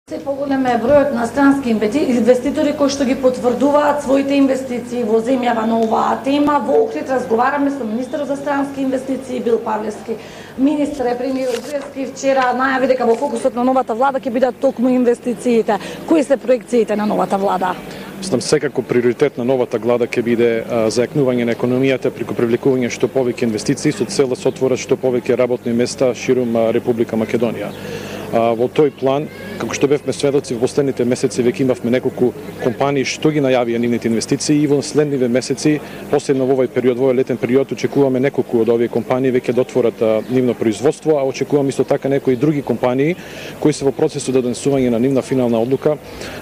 Се поголем е бројот на странски инвеститори кои што ги потврдуваат своите инвестиции во земјава на оваа тема. Во Охрид разговараме со министерот за странски инвестиции Бил Павлевски. Министер премиерот Груевски вчера најави дека во фокусот на новата влада ќе бидат токму инвестициите. Кои се проекциите на новата влада? Мислам секако приоритет на новата влада ќе биде зајакнување на економијата преку привлекување што повеќе инвестиции со цел да се отворат што повеќе работни места ширум Република Македонија. Во тој план, како што бевме сведоци во последните месеци, веќе имавме неколку компании што ги најавија нивните инвестиции и во следниве месеци, посебно во овој период, во овој летен период, очекуваме неколку од овие компании веќе да отворат нивно производство, а очекуваме исто така некои други компании кои се во процесот да донесување на нивна финална одлука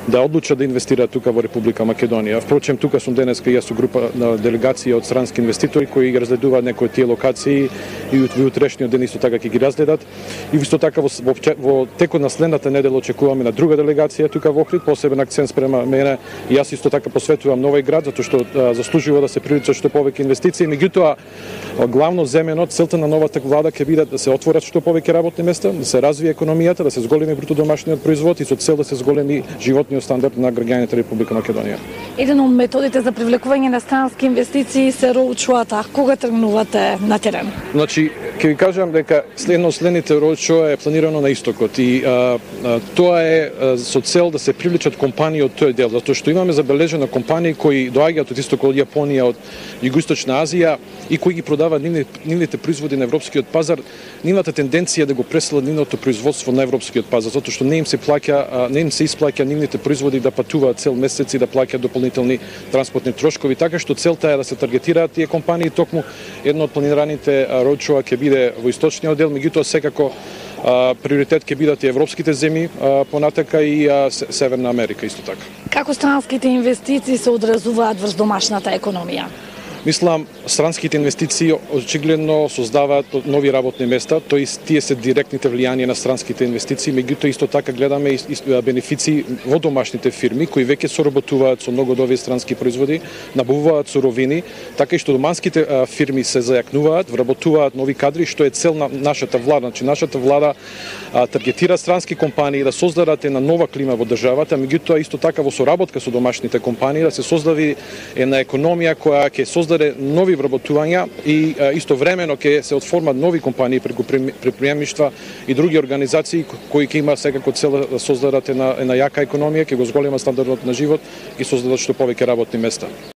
да одлучат да инвестираат тука во Република Македонија. Впрочем, тука сум денеска и јас со група на делегација од странски инвеститори кои ги разгледуваат некои од тие локации и утрешниот ден исто така ќе ги разгледат. И исто така во текот на следната недела очекуваме на друга делегација тука во Охрид, посебен акцент спрема мене и јас исто така посветувам на овој град затоа што заслужува да се привлечат што повеќе инвестиции. Меѓутоа, главно земено целта на новата влада ќе биде да се отворат што повеќе работни места, да се развие економијата, да се зголеми бруто домашниот производ и со цел да се зголеми животниот стандард на граѓаните Република Македонија. Еден од методите за привлекување на странски инвестиции се роучуата. Кога тргнувате на терен? Значи, ќе ви кажам дека следните роучуа е планирано на истокот и тоа е со цел да се привлечат компании од тој дел, затоа што имаме забележено компании кои доаѓаат од истокот, од Јапонија, од Југоисточна Азија и кои ги продаваат нивните производи на европскиот пазар. Нивната тенденција да го преселат нивното производство на европскиот пазар, затоа што не им се исплаќа нивните производи да патуваат цел месец и да плаќаат дополнителни транспортни трошкови, така што целта е да се таргетираат тие компании. Токму едно од планираните роучуа ќе биде во источниот дел, меѓутоа секако приоритет ќе бидат и европските земји, понатака и Северна Америка исто така. Како странските инвестиции се одразуваат врз домашната економија? Мислам, странските инвестиции очигледно создаваат нови работни места, тие се директните влијанија на странските инвестиции, меѓутоа исто така гледаме и бенефиции во домашните фирми кои веќе соработуваат со многу од овие странски производи, набавуваат суровини, така и што доманските фирми се зајакнуваат, вработуваат нови кадри, што е цел на нашата влада. Значи нашата влада таргетира странски компании да создадат една нова клима во државата, меѓутоа исто така во соработка со домашните компании да се создаде една економија која ќе создаде нови вработувања и истовремено ќе се отформат нови компании преку предприемништва и други организации кои ќе има секако цел да создадат една јака економија, ќе го зголемат стандардот на живот и создадат што повеќе работни места.